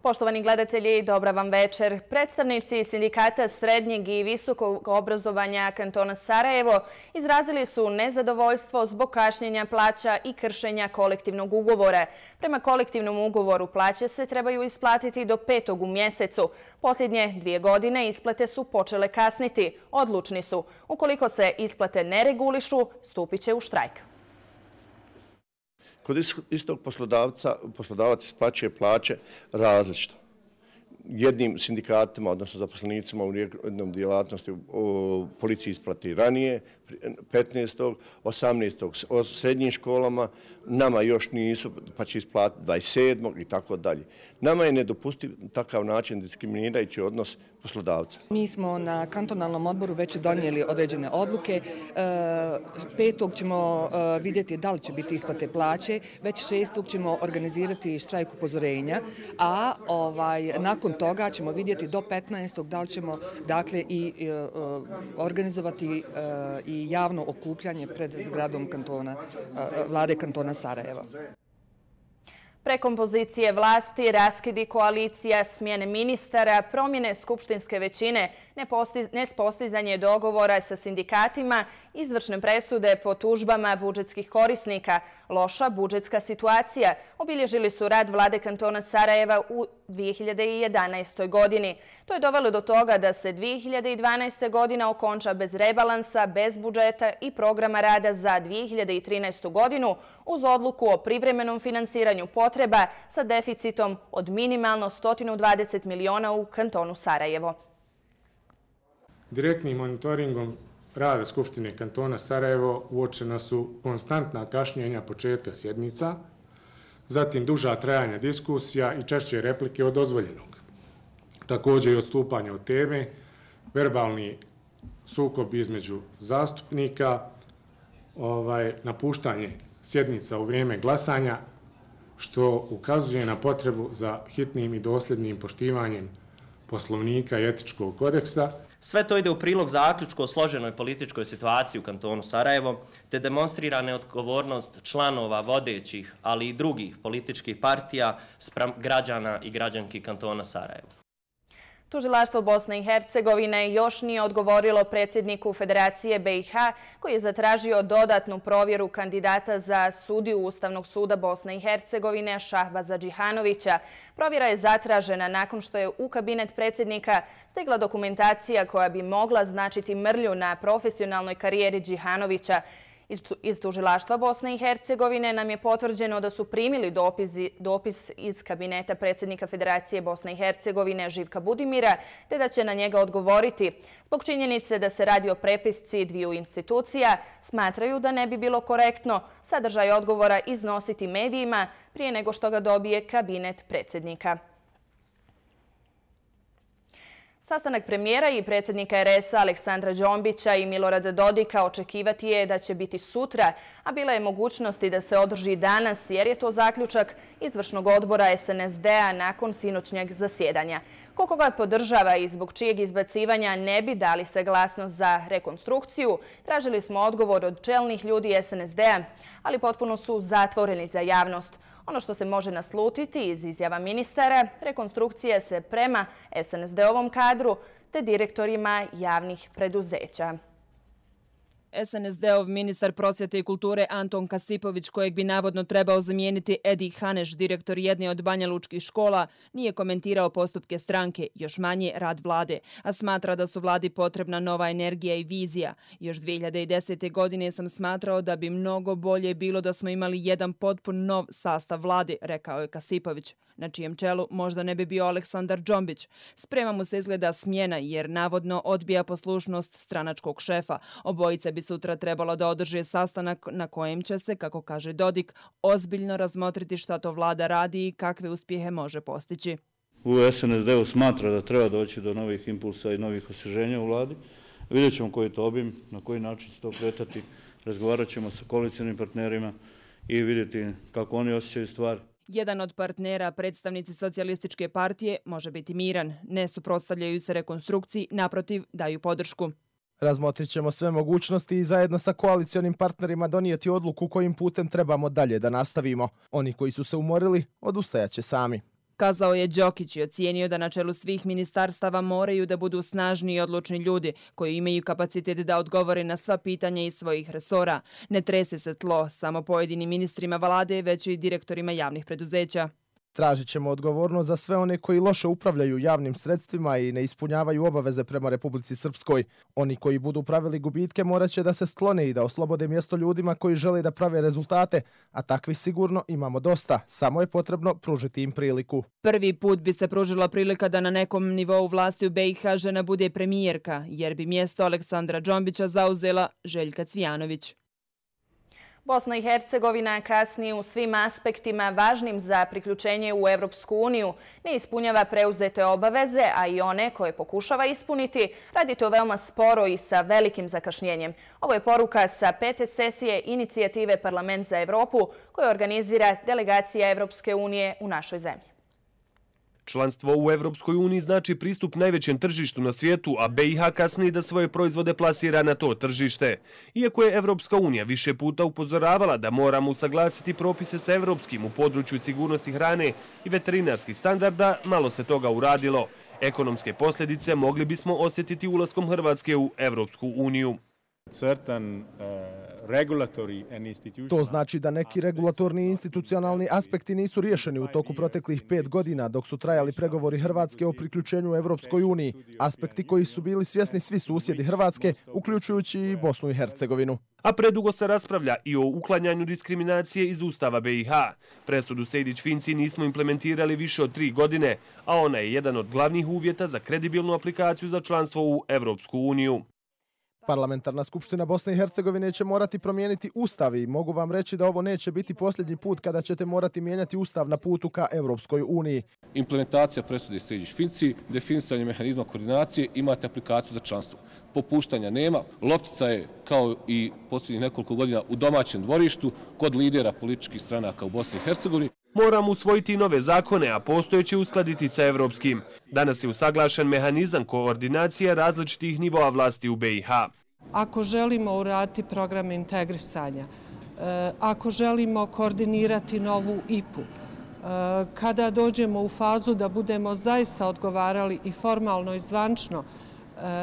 Poštovani gledatelji, dobra vam večer. Predstavnici sindikata srednjeg i visokog obrazovanja kantona Sarajevo izrazili su nezadovoljstvo zbog kašnjenja plaća i kršenja kolektivnog ugovora. Prema kolektivnom ugovoru plaće se trebaju isplatiti do 5. u mjesecu. Posljednje 2 godine isplate su počele kasniti. Odlučni su. Ukoliko se isplate ne regulišu, stupit će u štrajk. Kod istog poslodavac isplaćuje plaće različito. Jednim sindikatima, odnosno zaposlenicima u jednom djelatnosti u policiji isplati ranije, 15. 18. o srednjim školama, nama još nisu, pa će isplatiti 27. i tako dalje. Nama je nedopustiv takav način diskriminirajući odnos poslodavca. Mi smo na kantonalnom odboru već donijeli određene odluke. 5. ćemo vidjeti da li će biti isplate plaće, već 6. ćemo organizirati štrajk upozorenja, a nakon toga ćemo vidjeti do 15. da li ćemo organizovati i javno okupljanje pred zgradom vlade kantona Sarajevo. Prekompozicije vlasti, raskidi koalicija, smjene ministara, promjene skupštinske većine, nepostizanje dogovora sa sindikatima, izvršne presude po tužbama budžetskih korisnika, loša budžetska situacija obilježili su rad vlade kantona Sarajeva u 2011. godini. To je dovelo do toga da se 2012. godina okonča bez rebalansa, bez budžeta i programa rada za 2013. godinu uz odluku o privremenom finansiranju potreba sa deficitom od minimalno 120 miliona u kantonu Sarajevo. Direktnim monitoringom rada Skupštine kantona Sarajevo uočena su konstantna kašnjenja početka sjednica, zatim duža trajanja diskusija i češće replike od dozvoljenog. Također i odstupanje od teme, verbalni sukob između zastupnika, napuštanje sjednica u vrijeme glasanja, što ukazuje na potrebu za hitnim i dosljednim poštivanjem Poslovnika i etičkog kodeksa. Sve to ide u prilog zaključku o složenoj političkoj situaciji u kantonu Sarajevo, te demonstrira neodgovornost članova vodećih, ali i drugih političkih partija spram građana i građanki kantona Sarajevo. Tužilaštvo Bosne i Hercegovine još nije odgovorilo predsjedniku Federacije BiH koji je zatražio dodatnu provjeru kandidata za sudiju Ustavnog suda Bosne i Hercegovine Šahbaza Džihanovića. Provjera je zatražena nakon što je u kabinet predsjednika stigla dokumentacija koja bi mogla značiti mrlju na profesionalnoj karijeri Džihanovića. Iz Tužilaštva Bosne i Hercegovine nam je potvrđeno da su primili dopis iz kabineta predsjednika Federacije Bosne i Hercegovine Živka Budimira, te da će na njega odgovoriti. Zbog činjenice da se radi o prepisci dviju institucija, smatraju da ne bi bilo korektno sadržaj odgovora iznositi medijima prije nego što ga dobije kabinet predsjednika. Sastanak premijera i predsjednika RS-a Aleksandra Đombića i Milorada Dodika očekivati je da će biti sutra, a bila je mogućnosti da se održi danas jer je to zaključak izvršnog odbora SNSD-a nakon sinoćnjeg zasjedanja. Koliko ga podržava i zbog čijeg izbacivanja ne bi dali saglasnost za rekonstrukciju, tražili smo odgovor od čelnih ljudi SNSD-a, ali potpuno su zatvoreni za javnost. Ono što se može naslutiti iz izjava ministara, rekonstrukcija se prema SNSD-ovom kadru te direktorima javnih preduzeća. SNSD-ov ministar prosvjete i kulture Anton Kasipović, kojeg bi navodno trebao zamijeniti Edi Haneš, direktor jedne od banjalučkih škola, nije komentirao postupke stranke, još manje rad vlade, a smatra da su vladi potrebna nova energija i vizija. Još 2010. godine sam smatrao da bi mnogo bolje bilo da smo imali jedan potpun nov sastav vlade, rekao je Kasipović, na čijem čelu možda ne bi bio Aleksandar Đombić. Sprema mu se izgleda smjena jer navodno odbija poslušnost stranačkog šefa. Obojica bi sutra trebalo da održe sastanak na kojem će se, kako kaže Dodik, ozbiljno razmotriti šta to vlada radi i kakve uspjehe može postići. U SNSD-u smatra da treba doći do novih impulsa i novih osvježenja u vladi. Vidjet ćemo koji je to obim, na koji način će to kretati. Razgovarat ćemo sa koalicijnim partnerima i vidjeti kako oni osjećaju stvar. Jedan od partnera, predstavnici Socijalističke partije, može biti miran. Ne suprotstavljaju se rekonstrukciji, naprotiv, daju podršku. Razmotrit ćemo sve mogućnosti i zajedno sa koalicionim partnerima donijeti odluku kojim putem trebamo dalje da nastavimo. Oni koji su se umorili, odustajaće sami. kazao je Đokić i ocijenio da na čelu svih ministarstava moraju da budu snažni i odlučni ljudi koji imaju kapacitet da odgovore na sva pitanja iz svojih resora. Ne trese se tlo samo pojedinim ministrima vlade, već i direktorima javnih preduzeća. Tražit ćemo odgovornost za sve one koji loše upravljaju javnim sredstvima i ne ispunjavaju obaveze prema Republici Srpskoj. Oni koji budu pravili gubitke morat će da se sklone i da oslobode mjesto ljudima koji žele da prave rezultate, a takvih sigurno imamo dosta. Samo je potrebno pružiti im priliku. Prvi put bi se pružila prilika da na nekom nivou vlasti u BiH žena bude premijerka, jer bi mjesto Aleksandra Džombića zauzela Željka Cvijanović. Bosna i Hercegovina kasni u svim aspektima važnim za priključenje u Evropsku uniju, ne ispunjava preuzete obaveze, a i one koje pokušava ispuniti, radi to veoma sporo i sa velikim zakašnjenjem. Ovo je poruka sa 5. sesije inicijative Parlament za Evropu koju organizira delegacija Evropske unije u našoj zemlji. Članstvo u Evropskoj uniji znači pristup najvećem tržištu na svijetu, a BiH kasni da svoje proizvode plasira na to tržište. Iako je Evropska unija više puta upozoravala da moramo usaglasiti propise sa evropskim u području sigurnosti hrane i veterinarskih standarda, malo se toga uradilo. Ekonomske posljedice mogli bismo osjetiti ulaskom Hrvatske u Evropsku uniju. To znači da neki regulatorni i institucionalni aspekti nisu riješeni u toku proteklih 5 godina dok su trajali pregovori Hrvatske o priključenju Evropskoj uniji. Aspekti koji su bili svjesni svi susjedi Hrvatske, uključujući i Bosnu i Hercegovinu. A predugo se raspravlja i o uklanjanju diskriminacije iz Ustava BiH. Presudu Sejdić-Finci nismo implementirali više od 3 godine, a ona je jedan od glavnih uvjeta za kredibilnu aplikaciju za članstvo u Evropsku uniju. Parlamentarna skupština Bosne i Hercegovine će morati promijeniti ustav i mogu vam reći da ovo neće biti posljednji put kada ćete morati mijenjati ustav na putu ka Evropskoj uniji. Implementacija presude Sejdić-Finci, definisanje mehanizma koordinacije, imate aplikaciju za članstvo. Popuštanja nema, loptica je kao i posljednjih nekoliko godina u domaćem dvorištu kod lidera političkih stranaka u Bosni i Hercegovini. Moramo usvojiti nove zakone, a postojeće uskladiti sa evropskim. Danas je usaglašen mehanizam koordinacije različitih nivoa vlasti u BiH. Ako želimo uraditi program integrisanja, ako želimo koordinirati novu IPU, kada dođemo u fazu da budemo zaista odgovarali i formalno i zvančno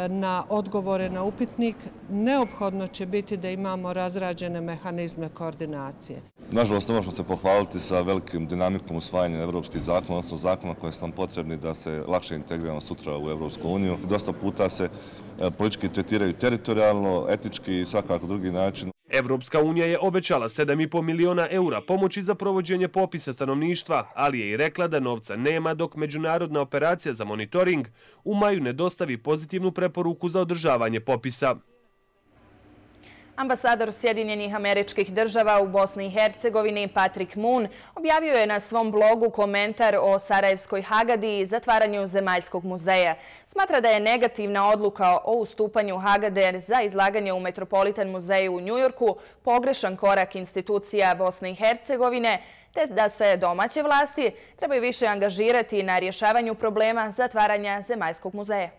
na odgovore na upitnik, neophodno će biti da imamo razrađene mehanizme koordinacije. Nažalost, ne možemo se pohvaliti sa velikim dinamikom usvajanja evropskih zakona, odnosno zakona koje su nam potrebni da se lakše integriramo sutra u Evropsku uniju. Dosta puta se politički tretiraju teritorijalno, etički i svakako drugi način. Evropska unija je obećala 7,5 miliona eura pomoći za provođenje popisa stanovništva, ali je i rekla da novca nema dok međunarodna operacija za monitoring u maju ne dostavi pozitivnu preporuku za održavanje popisa. Ambasador Sjedinjenih Američkih Država u Bosni i Hercegovini Patrick Moon objavio je na svom blogu komentar o Sarajevskoj Hagadi i zatvaranju Zemaljskog muzeja. Smatra da je negativna odluka o ustupanju Hagade za izlaganje u Metropolitan muzeju u Njujorku pogrešan korak institucija Bosne i Hercegovine, te da se domaće vlasti trebaju više angažirati na rješavanju problema zatvaranja Zemaljskog muzeja.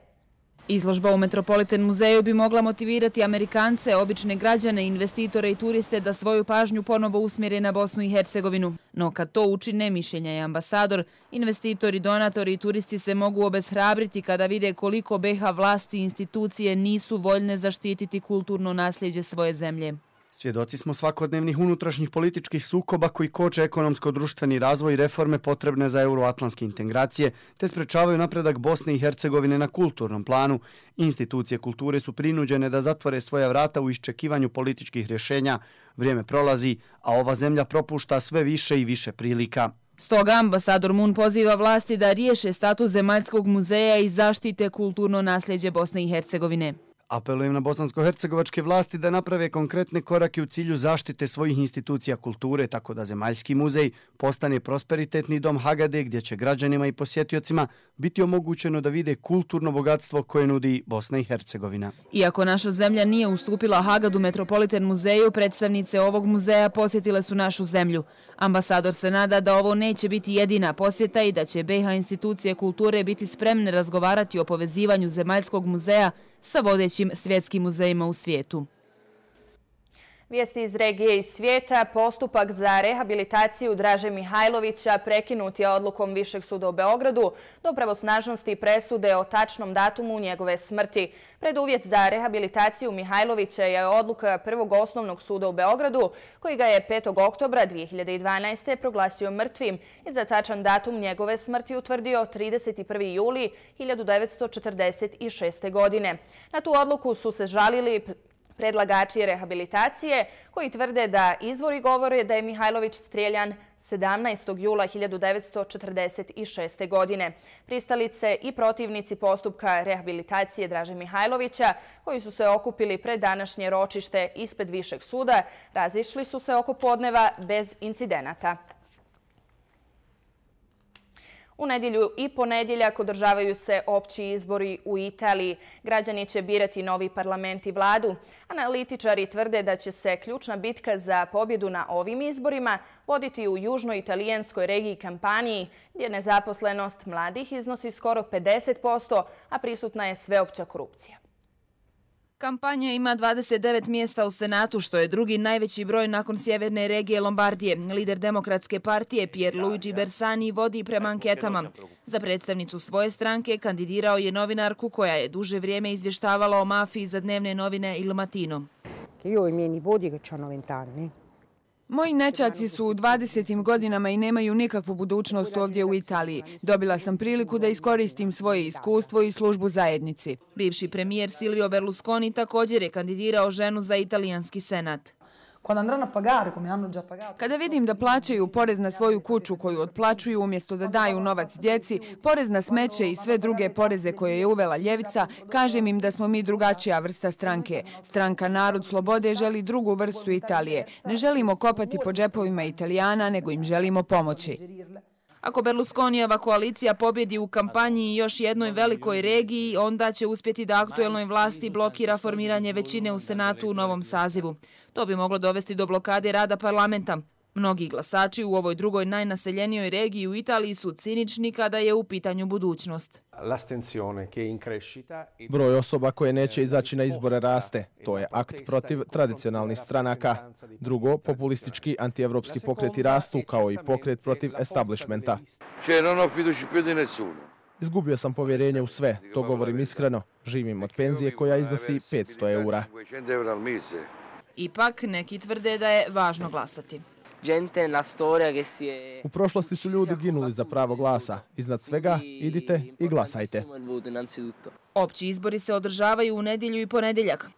Izložba u Metropolitan muzeju bi mogla motivirati Amerikance, obične građane, investitore i turiste da svoju pažnju ponovo usmjere na Bosnu i Hercegovinu. No kad to učine, mišljenja je ambasador, investitori, donatori i turisti se mogu obeshrabriti kada vide koliko BiH vlasti i institucije nisu voljne zaštititi kulturno nasljeđe svoje zemlje. Svjedoci smo svakodnevnih unutrašnjih političkih sukoba koji koče ekonomsko-društveni razvoj i reforme potrebne za euroatlantske integracije, te sprečavaju napredak Bosne i Hercegovine na kulturnom planu. Institucije kulture su prinuđene da zatvore svoja vrata u iščekivanju političkih rješenja. Vrijeme prolazi, a ova zemlja propušta sve više i više prilika. Stoga ambasador Moon poziva vlasti da riješe status Zemaljskog muzeja i zaštite kulturno nasljeđe Bosne i Hercegovine. Apelujem na bosansko-hercegovačke vlasti da naprave konkretne korake u cilju zaštite svojih institucija kulture, tako da Zemaljski muzej postane prosperitetni dom Hagade gdje će građanima i posjetiocima biti omogućeno da vide kulturno bogatstvo koje nudi Bosna i Hercegovina. Iako naša zemlja nije ustupila Hagadu Metropolitan muzeju, predstavnice ovog muzeja posjetile su našu zemlju. Ambasador se nada da ovo neće biti jedina posjeta i da će BiH institucije kulture biti spremne razgovarati o povezivanju Zemaljskog muzeja sa vodećim svjetskim muzejima u svijetu. Vijesti iz regije i svijeta. Postupak za rehabilitaciju Draže Mihajlovića prekinut je odlukom Višeg suda u Beogradu do pravosnažnosti presude o tačnom datumu njegove smrti. Preduvjet za rehabilitaciju Mihajlovića je odluka Prvog osnovnog suda u Beogradu, koji ga je 5. oktobra 2012. proglasio mrtvim i za tačan datum njegove smrti utvrdio 31. juli 1946. godine. Na tu odluku su se žalili predlagači rehabilitacije, koji tvrde da izvori govore da je Mihajlović strijeljan 17. jula 1946. godine. Pristalice i protivnici postupka rehabilitacije Draže Mihajlovića, koji su se okupili pred današnje ročište ispred Višeg suda, razišli su se oko podneva bez incidenata. U nedjelju i ponedjeljak održavaju se opći izbori u Italiji. Građani će birati novi parlament i vladu. Analitičari tvrde da će se ključna bitka za pobjedu na ovim izborima voditi u južnoj italijanskoj regiji Kampaniji, gdje nezaposlenost mladih iznosi skoro 50%, a prisutna je sveopća korupcija. Kampanja ima 29 mjesta u Senatu, što je drugi najveći broj nakon sjeverne regije Lombardije. Lider Demokratske partije Pierluigi Bersani vodi prema anketama. Za predstavnicu svoje stranke kandidirao je novinarku koja je duže vrijeme izvještavala o mafiji za dnevne novine Il Mattino. Moji nećaci su u 20. godinama i nemaju nikakvu budućnost ovdje u Italiji. Dobila sam priliku da iskoristim svoje iskustvo i službu zajednici. Bivši premijer Silvio Berlusconi također je kandidirao ženu za italijanski senat. Kada vidim da plaćaju porez na svoju kuću koju otplaćuju umjesto da daju novac djeci, porez na smeće i sve druge poreze koje je uvela ljevica, kažem im da smo mi drugačija vrsta stranke. Stranka Narod slobode želi drugu vrstu Italije. Ne želimo kopati po džepovima Italijana, nego im želimo pomoći. Ako Berlusconijeva koalicija pobjedi u kampanji i još jednoj velikoj regiji, onda će uspjeti da aktuelnoj vlasti blokira formiranje većine u Senatu u novom sazivu. To bi moglo dovesti do blokade rada parlamenta. Mnogi glasači u ovoj drugoj najnaseljenijoj regiji u Italiji su cinični kada je u pitanju budućnost. Broj osoba koje neće izaći na izbore raste. To je akt protiv tradicionalnih stranaka. Drugo, populistički antievropski pokreti rastu, kao i pokret protiv establishmenta. Izgubio sam povjerenje u sve, to govorim iskreno. Živim od penzije koja iznosi 500 eura. Ipak, neki tvrde da je važno glasati. U prošlosti su ljudi ginuli za pravo glasa. Iznad svega, idite i glasajte. Opći izbori se održavaju u nedjelju i ponedjeljak.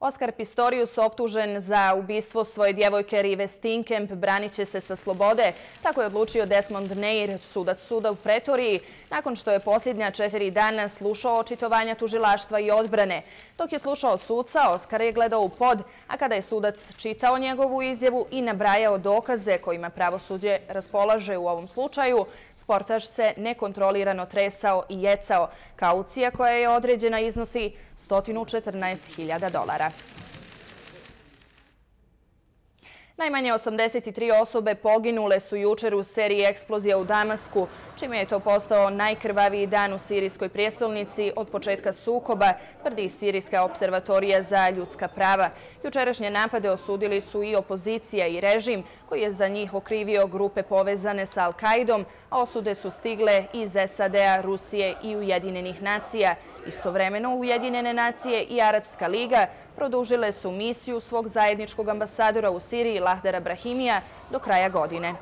Oskar Pistorius, optužen za ubistvo svoje djevojke Rive Steenkamp, branit će se sa slobode. Tako je odlučio Desmond Neir, sudac suda u Pretoriji, nakon što je posljednja 4 dana slušao očitovanja tužilaštva i odbrane. Dok je slušao suca, Oskar je gledao u pod, a kada je sudac čitao njegovu izjavu i nabrajao dokaze kojima pravosuđe raspolaže u ovom slučaju, sportaš se nekontrolirano tresao i jecao. Kaucija koja je određena iznosi $114.000. Najmanje 83 osobe poginule su jučer u seriji eksplozija u Damasku, čime je to postao najkrvaviji dan u sirijskoj prijestolnici od početka sukoba, tvrdi Sirijska observatorija za ljudska prava. Jučerašnje napade osudili su i opozicija i režim, koji je za njih okrivio grupe povezane sa Al-Kaidom, a osude su stigle iz SAD-a, Rusije i Ujedinjenih nacija. Istovremeno Ujedinjene nacije i Arapska liga produžile su misiju svog zajedničkog ambasadora u Siriji Lahdara Brahimija do kraja godine.